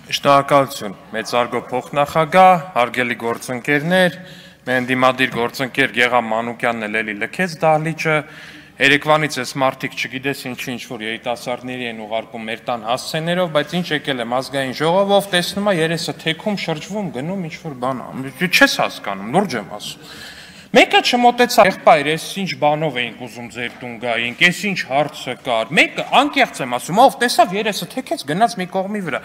Շնորհակալություն, մեծարգո փոխնախագահ, հարգելի գործընկերներ, մեր դիմադիր գործընկեր Գեգամ Մանուկյանն էլ էլի լքեց դահլիճը, երեկվանից էս մարդիկ չգիտես ինչ-որ երիտասարդների են ուղարկում մեր տան հասցեներով, բայց ինչ եկել եմ ազգային ժողովով, տեսնում եմ երեսը թեքում շրջվում, գնում ինչ-որ բան, չես հասկանում, լուրջ եմ ասում։ Մեկը չմոտեցավ, եղբայր, ես ինչ բանով էինք ուզում ձեր տուն գայինք, ես ինչ հարցը կար, մեկը անկեղծ եմ ասում, ով տեսավ երեսը թեքեց գնաց մի կողմի վրա։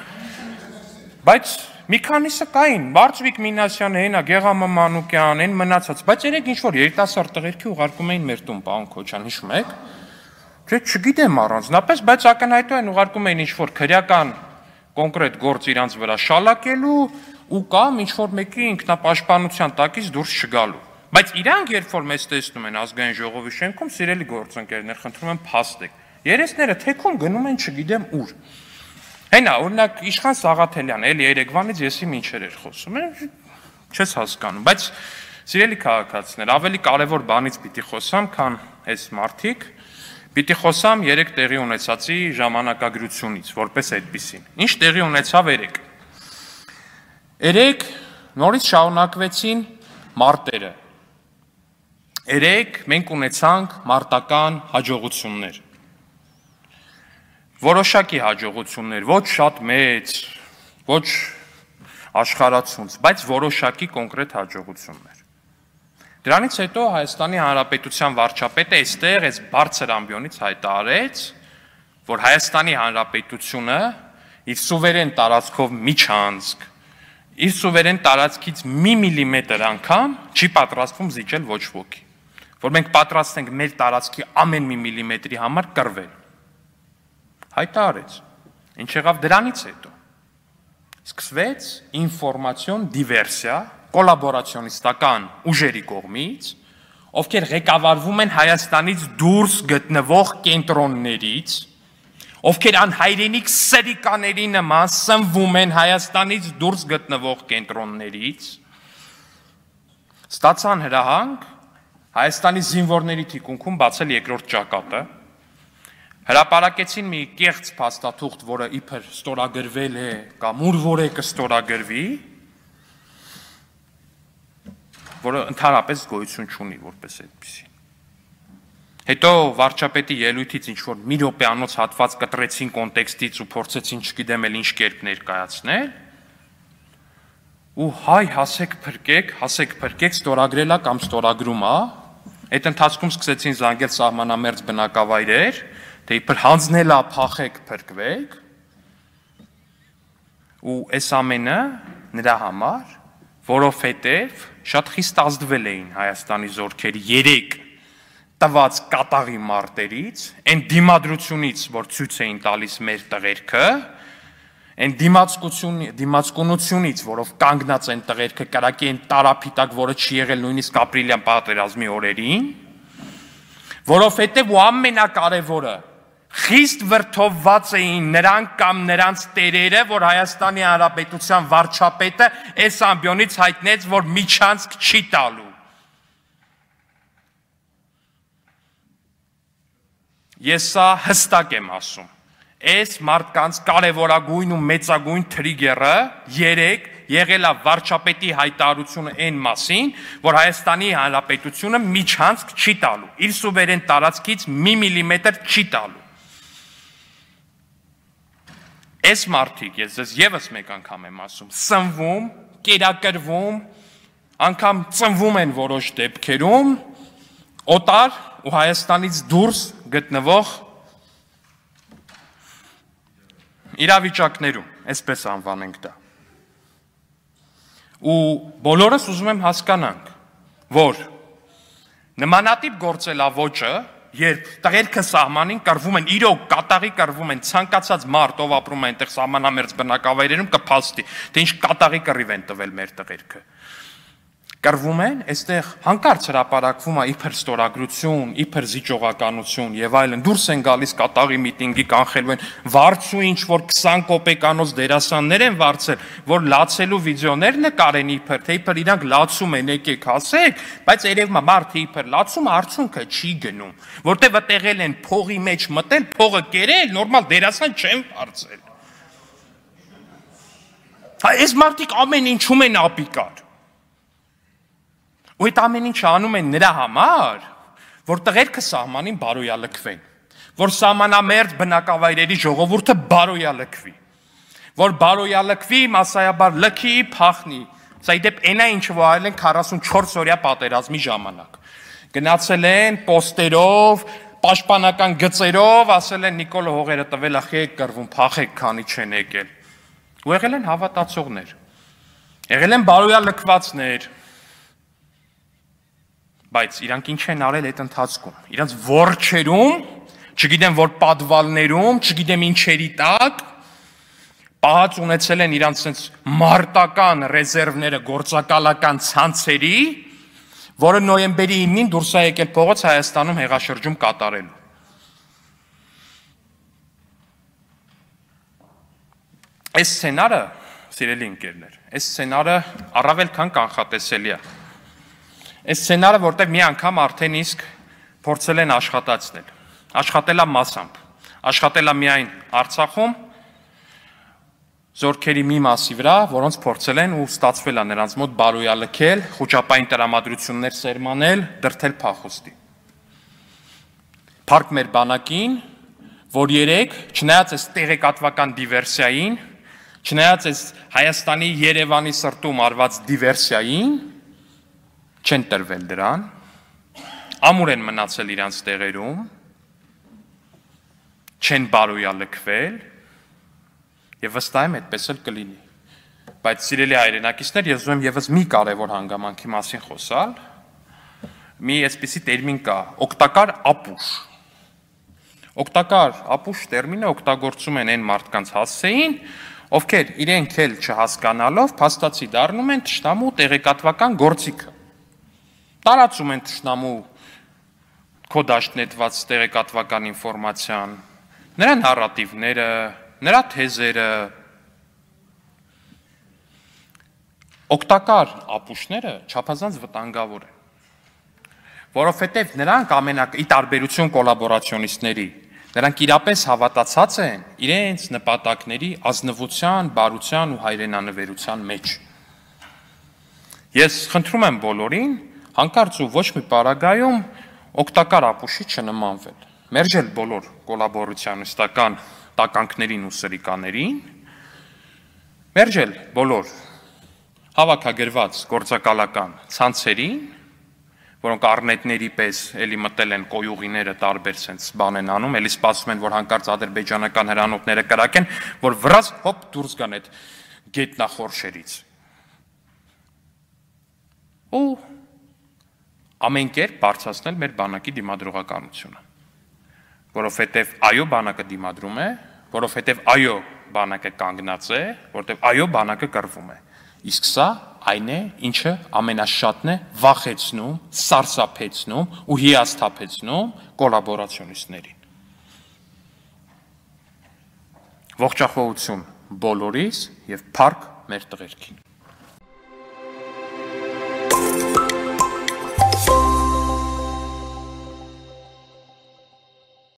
Բայց մի քանիսը կային, Բարձվիկ Մինասյանը, հենա Գեգամ Մանուկյան, այն մնացած, բայց երեք ինչ-որ երիտասարդ տղերքի ուղարկում էին մեր տուն, պարոն Քոչյան, հիշում եք։ Չէ, չգիտեմ առանձնապես, բայց ակնհայտորեն ուղարկում էին ինչ-որ քրեական կոնկրետ գործ իրանց վրա շալակելու ու կամ ինչ-որ մեկի ինքնապաշտպանության տակից դուրս չգալու։ Բայց իրանք երբ որ մեզ տեսնում են ազգային ժողովի շենքում, սիրելի գործընկերներ, խնդրում եմ փաստեք։ Երեսները թեքում գնում են չգիտեմ ուր։ Հենա, օրինակ Իշխան Սաղաթելյան, էլի երեկվանից եսի մինչեր էր խոսում, չես հասկանում, բայց սիրելի քաղաքացիներ, ավելի կարևոր բանից պիտի խոսամ, քան այս մարդիկ, պիտի խոսամ երեք տեղի ունեցածի ժամանակագրությունից, որպես այդպիսին։ Ինչ տեղի ունեցավ երեք։ Երեք նորից շարունակվեցին մարտերը։ Երեք մենք ունեցանք մարտական հաջողություններ։ Որոշակի հաջողություններ, ոչ շատ մեծ, ոչ աշխարհացունց, բայց որոշակի կոնկրետ հաջողություններ։ Դրանից հետո Հայաստանի Հանրապետության վարչապետը այստեղ այս բարձր ամբիոնից հայտարարեց, որ Հայաստանի Հանրապետությունը իր սուվերեն տարածքով միջանցք, իր սուվերեն տարածքից մի միլիմետր անգամ չի պատրաստվում զիջել ոչ ոքի, որ մենք պատրաստ ենք մեր տարածքի ամեն մի միլիմետրի համար կռվել։ Հայտարարեց, ինչ եղավ դրանից հետո, սկսվեց ինֆորմացիոն դիվերսիա կոլաբորացիոնիստական ուժերի կողմից, ովքեր ղեկավարվում են Հայաստանից դուրս գտնվող կենտրոններից, ովքեր անհայրենիք սրիկաների նման սնվում են Հայաստանից դուրս գտնվող կենտրոններից, ստացան հրահանգ Հայաստանի զինվորների թիկունքում բացել երկրորդ ճակատը, հրապարակեցին մի կեղծ փաստաթուղթ, որը իբր ստորագրվել է կամ ուր որ է կստորագրվի, որը ընդհանրապես գոյություն չունի որպես այդպիսի։ Հետո վարչապետի ելույթից ինչ-որ մի րոպեանոց հատված կտրեցին կոնտեքստից ու փորձեցին չգիտեմ էլ ինչ կերպ ներկայացնել, ու հայ հասեք փրկեք, ստորագրելա կամ ստորագրում է, այդ ընթացքում սկսեցին զանգել սահմանամերձ բնակավայրեր, թե իբր հանձնելա փախեք փրկվեք, ու այս ամենը նրա համար, որովհետև շատ խիստ ազդվել էին Հայաստանի զորքերի 3 տված կատաղի մարտերից, այն դիմադրությունից, որ ցույց էին տալիս մեր տղերքը, այն դիմացկունությունից, որով կանգնած են տղերքը կրակի են տարափիտակ, որը չի եղել նույնիսկ ապրիլյան պատերազմի օրերին, որովհետև ու ամենակարևորը խիստ վրդովված էին նրանք կամ նրանց տերերը, որ Հայաստանի Հանրապետության վարչապետը այս ամբիոնից հայտնեց, որ միջանցք չի տալու։ Ես սա հստակ եմ ասում։ Այս մարդկանց կարևորագույն ու մեծագույն թրիգերը երեք եղել է վարչապետի հայտարարությունը այն մասին, որ Հայաստանի Հանրապետությունը միջանցք չի տալու, իր սուվերեն տարածքից մի միլիմետր չի տալու։ Այս մարդիկ, ես ձեզ ևս մեկ անգամ եմ ասում, սնվում, կերակրվում, անգամ ծնվում են որոշ դեպքերում, օտար ու Հայաստանից դուրս գտնվող իրավիճակներում, այսպես անվանենք դա։ Ու բոլորս ուզում եմ հասկանանք, որ նմանատիպ գործելավոճը, երբ տղերքը սահմանին կռվում են, իրոք կատաղի կռվում են, ցանկացած մարդ, ով ապրում է այնտեղ սահմանամերձ բնակավայրերում կփաստի, թե ինչ կատաղի կռիվ են տվել մեր տղերքը։ Կռվում են, այստեղ հանկարծ հրապարակվում է իբր ստորագրություն, իբր զիջողականություն եւ այլն, դուրս են գալիս կատաղի միտինգի կանխելու են, վարձու ինչ որ 20 կոպեկանոց դերասաններ են վարձել, որ լացելու վիդեոներ նկարեն իբր, թե իբր իրանք լացում են, եկեք ասեք, բայց երևում է մարդը իբր լացում, արդյունքը չի գնում, որտեղ վտեղել են փողի մեջ մտել, փողը կերել, նորմալ դերասան չեն վարձել։ այս մարդիկ ամեն ինչում են ապիկար։ Ու այդ ամեն ինչը անում են նրա համար, որ տղերքը սահմանին բարոյալքվեն, որ սահմանամերձ բնակավայրերի ժողովուրդը բարոյալքվի, որ բարոյալքվի, մասսայաբար լքի, փախնի։ Սա ի դեպ այնա ինչը որ արել են 44 օրյա պատերազմի ժամանակ։ Գնացել են պոստերով, պաշտպանական գծերով, ասել են Նիկոլը հողերը տվել է, խեք կռվում, փախեք, քանի չեն եկել։ Ու եղել են հավատացողներ, եղել են բարոյալքվածներ, բայց իրանք ինչ են արել այդ ընթացքում, իրանք որջերում, չգիտեմ որ պատվալներում, չգիտեմ ինչերի տակ, պահած ունեցել են իրանք սենց մարտական ռեզերվները գործակալական ցանցերի, որը նոյեմբերի 9-ին դուրս է եկել փողոց Հայաստանում հեղաշրջում կատարելու։ Այս սցենարը, սիրելի ընկերներ, այս սցենարը առավել քան կանխատեսելի է։ Այս սցենարը, որտեղ մի անգամ արդեն իսկ փորձել են աշխատացնել, աշխատելա մասամբ, աշխատելա միայն Արցախում, զորքերի մի մասի վրա, որոնց փորձել են ու ստացվել է նրանց մոտ բարոյալքել, խոճապային տրամադրություններ սերմանել, դրդել փախուստի։ Փառք մեր բանակին, որ երեք, չնայած այս տեղեկատվական դիվերսիային, չնայած այս Հայաստանի Երևանի սրտում արված դիվերսիային, չեն տրվել դրան, ամուր են մնացել իրանց տեղերում, չեն բարոյալքվել, եւ վստահ եմ այդպես էլ կլինի։ Բայց սիրելի հայրենակիցներ, ես ուզում եմ եւս մի կարևոր հանգամանքի մասին խոսալ։ Մի այսպիսի տերմին կա՝ օգտակար ապուշ։ Օգտակար ապուշ տերմինը օգտագործում են այն մարդկանց հասցեին, ովքեր իրենք էլ չհասկանալով փաստացի դառնում են թշնամու տեղեկատվական գործիքը։ Տարածում են թշնամու կոդաշնետված տեղեկատվական ինֆորմացիան, նրա նարատիվները, նրա թեզերը, օգտակար ապուշները չափազանց վտանգավոր են, որովհետև նրանք ի տարբերություն կոլաբորացիոնիստների, նրանք իրապես հավատացած են իրենց նպատակների ազնվության, բարության ու հայրենանվերության մեջ։ Ես խնդրում եմ բոլորին, հանկարծ ու ոչ մի պարագայում օգտակար ապուշի չնմանվել։ Մերժել բոլոր կոլաբորացիոնիստական տականքներին ու սրիկաներին, մերժել բոլոր հավաքագրված գործակալական ցանցերին, որոնք առնետների պես էլի մտել են կոյուղիները տարբեր սենց բան են անում, էլի սպասում են, որ հանկարծ ադրբեջանական հրանոթները կրակեն, որ վրաց հոպ դուրս գան այդ գետնախորշերից։ Ու ամեն կերպ բարձրացնել մեր բանակի դիմադրողականությունը, որովհետև այո բանակը դիմադրում է, որովհետև այո բանակը կանգնած է, որովհետև այո բանակը կռվում է։ Իսկ սա այն է, ինչը ամենաշատն է վախեցնում, սարսափեցնում ու հիասթափեցնում կոլաբորացիոնիստներին։ Ողջախոհություն բոլորիս եւ փառք մեր տղերքին։